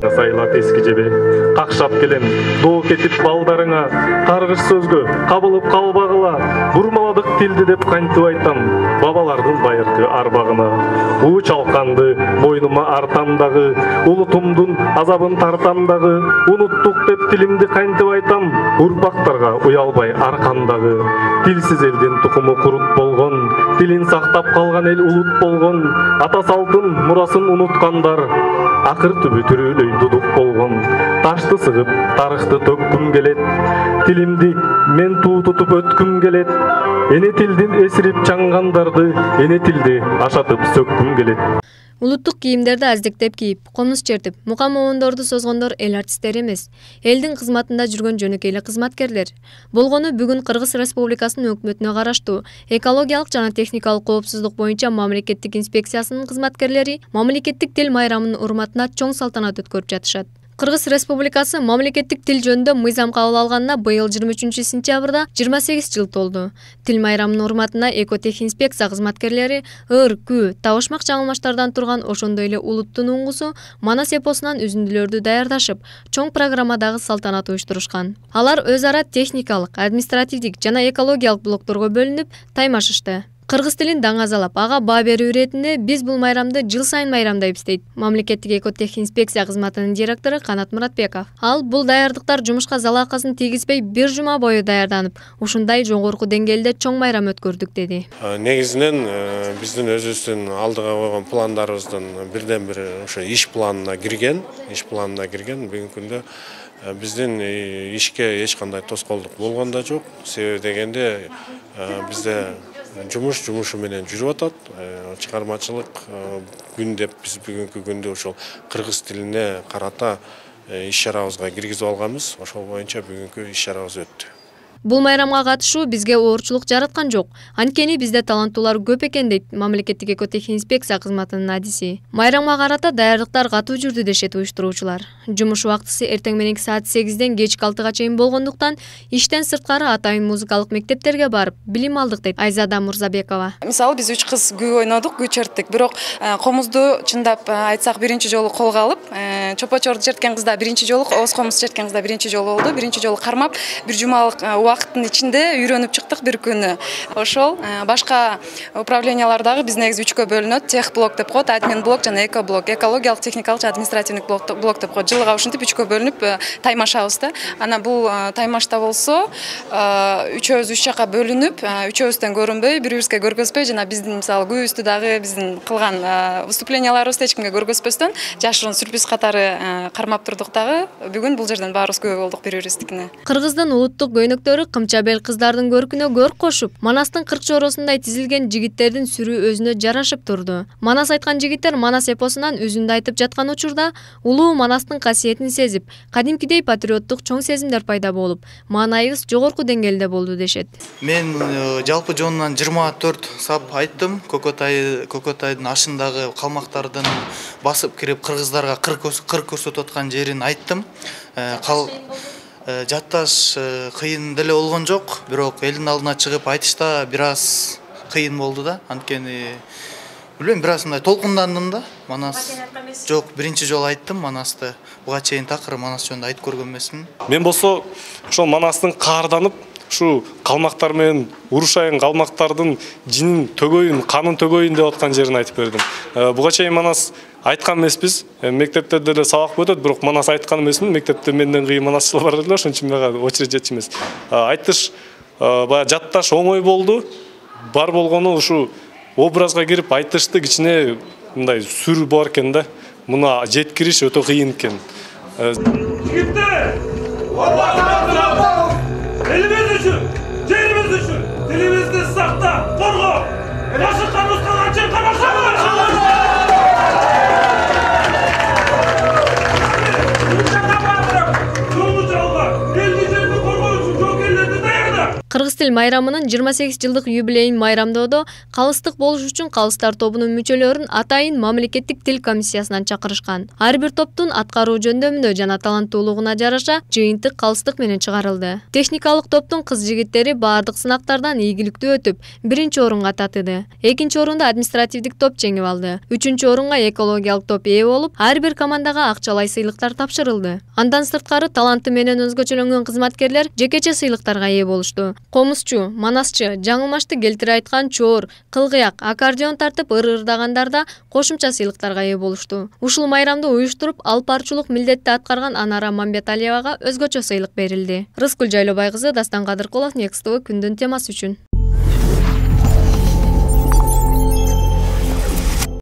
Сайлап эски жебе, какшап келем, доо кетип балдарыңа, каргыш сөзгө кабылып калбагыла, бурмаладык тилди деп кантип айтам, бабалардын байыркы арбагына. У чалканды мойнума артам дагы, улутумдун азабын тартам дагы, унуттук деп тилимди кантип айтам, урпактарга уялбай аркам дагы. Тилсиз элдин тукуму курут болгон, тилин сактап калган эл улут болгон, ата салтын мурасын унуткандар, акыр түбү түрүлөй дудук болгон. Ташты сыгып, тарыхты төккүм келет, тилимди мен туу тутуп өткүм келет. Эне тилдин эсирип чаңгандарды, эне тилди ашатып сөккүм келет. Улуттук кийимдерди аздектеп кийип, комуз чертип, мука моондорду созгондор эл артисттери эмес, элдин кызматында жүргөн жөнөкөй эле кызматкерлер. Болгону бүгүн Кыргыз Республикасынын өкмөтүнө караштуу экологиялык жана техникалык коопсуздук боюнча мамлекеттик инспекциясынын кызматкерлери мамлекеттик тил майрамынын урматына чоң салтанат өткөрүп жатышат. Кыргыз Республикасы мамлекеттик тил жөнүндө мыйзам кабыл алганына быйыл 23-сентябрда 28 жыл толду. Тил майрамынын урматына экотех-инспекция кызматкерлери ыр, күү, табышмак жаңылмаштардан турган ошондой эле улуттун уңгусу Манас эпосунан үзүндүлөрдү даярдашып, чоң программадагы салтанат уюштурушкан. Алар өз ара техникалык, административдик жана экологиялык блокторго бөлүнүп таймашышты. Кыргыз тилин даңазалап, ага баа берүү иретинде биз бул майрамды жыл сайын майрамдайбыз дейт мамлекеттик экотех инспекция кызматынын директору Канат Муратбеков. Ал бул даярдыктар жумушка залакасын тийгизбей бир жума бою даярданып, ушундай жогорку деңгээлде чоң майрам өткөрдүк деди. Негизинен биздин өзүбүздүн алдыга койгон пландарыбыздын бирден бири ошо иш планына кирген. Бүгүнкү күндө биздин ишке эч кандай тоскоолдук болгон да жок. Себеби дегенде бизде жумушу менен жүрүп атат. Чыгармачылык күн деп биз бүгүнкү күндө ошол кыргыз тилине карата иш чарабызга киргизип алганбыз. Ошол боюнча бүгүнкү иш чарабыз өттү. Бул майрамга катышуу бизге оорчулук жараткан жок. Анткени бизде таланттуулар көп экен дейт мамлекеттик экотех инспекция кызматынын адиси. Майрамга карата даярдыктар катуу жүрдү дешет уюштуруучулар. Жумуш убактысы эртең мененки саат 8ден кечки 6га чейин болгондуктан иштен сырткары атайын музыкалык мектептерге барып билим алдык дейт Айзада Мурзабекова. Мисалы биз 3 кыз күү ойнодук, күү черттик. Бирок комузду чындап айтсак биринчи жолу колго алып, чопочорду черткен кызда биринчи жолу, ооз комуз черткен кызда биринчи жолу болду. Биринчи жолу кармап, бир жумалык убакыттын ичинде үйрөнүп чыктык бир күнү. Ошол башка управлениялардагы биз негизи 3кө бөлүнөт. Тех блок деп коет, админ блок жана эко блок. Экологиялык, техникалык жана административдик блок деп коет. Жылга ушинтип 3кө бөлүнүп таймашабыз да. Анан бул таймашта болсо, үчөөбүз 3 жака бөлүнүп, үчөөбүздөн көрүнбөй, бири-бирибизге көргөзбөй жана биздин мисалы күүбүздү дагы биздин кылган выступленияларыбызды эч кимге көргөзбөстөн жашыруун сюрприз катары кармап турдук дагы. Бүгүн бул жерден баарыбыз күбө болдук бири-бирибиздикине. Кыргыздын улуттук көйнөктөрү кымчабел кыздардын көркүнө көрк кошуп, Манастын 40 чоросундай тизилген жигиттердин сүрү өзүнө жарашып турду. Манас айткан жигиттер Манас эпосунан үзүндү айтып жаткан учурда улуу Манастын касиетин сезип, кадимкидей патриоттук чоң сезимдер пайда болуп, маанайыбыз жогорку деңгээлде болду дешет. Мен жалпы жонунан 24 сап айттым. Кокотайдын ашындагы калмактардын басып кирип кыргыздарга кыр көрсөтүп аткан жерин айттым. Жатташ кыйын деле болгон жок, бирок элдин алдына чыгып айтышта бир аз кыйын болду да. Анткени билбейм, бир аз мындай толкундандым да. Манас жок, биринчи жолу айттым Манасты. Буга чейин такыр Манас жөнүндө айтып көргөн эмесмин. Мен болсо ошол Манастын каарданып, ушу калмактар менен урушайын калмактардын жинин төгөйүн, канын төгөйүн деп аткан жерин айтып бердим. Буга чейин Манас айткан эмеспиз. Мектептерде деле сабак өтөт, бирок Манас айткан эмесмин. Мектепте менден кыйын манасчылар бар эле, ошон үчүн мага очередь жетчү эмес. Айтыш баягы жатташ оңой болду. Бар болгону ушу образга кирип айтышты кичине мындай сүр бар экен да. Муна жеткириш өтө кыйын экен. Жигиттер! Элибиз үчүн, жерибиз үчүн, тилибизди сактап, коргоп, жашыккан усталарчы карашабыз! Кыргыз тил майрамынын 28 жылдык юбилейин майрамдоодо калыстык болуш үчүн калыстар тобунун мүчөлөрүн атайын мамлекеттик тил комиссиясынан чакырышкан. Ар бир топтун аткаруу жөндөмүнө жана таланттуулугуна жараша жыйынтык калыстык менен чыгарылды. Техникалык топтун кыз-жигиттери баардык сынактардан ийгиликтүү өтүп, 1-орунга татыды. 2-орунду административдик топ жеңип алды. 3-орунга экологиялык топ ээ болуп, ар бир командага акчалай сыйлыктар тапшырылды. Андан сырткары таланты менен өзгөчөлөнгөн кызматкерлер жекече сыйлыктарга ээ болушту. Комузчу, манасчы, жаңылмашты келтире айткан чоор, кылгыяк, аккордеон тартып ыр-ырдагандар да кошумча сыйлыктарга ээ болушту. Ушул майрамды уюштуруп, алып баруучулук милдетти аткарган Анара Мамбеталиевага өзгөчө сыйлык берилди. Рыскүл Жайлобай кызы, Дастан Кадыркулов, Next TV күндүн темасы үчүн.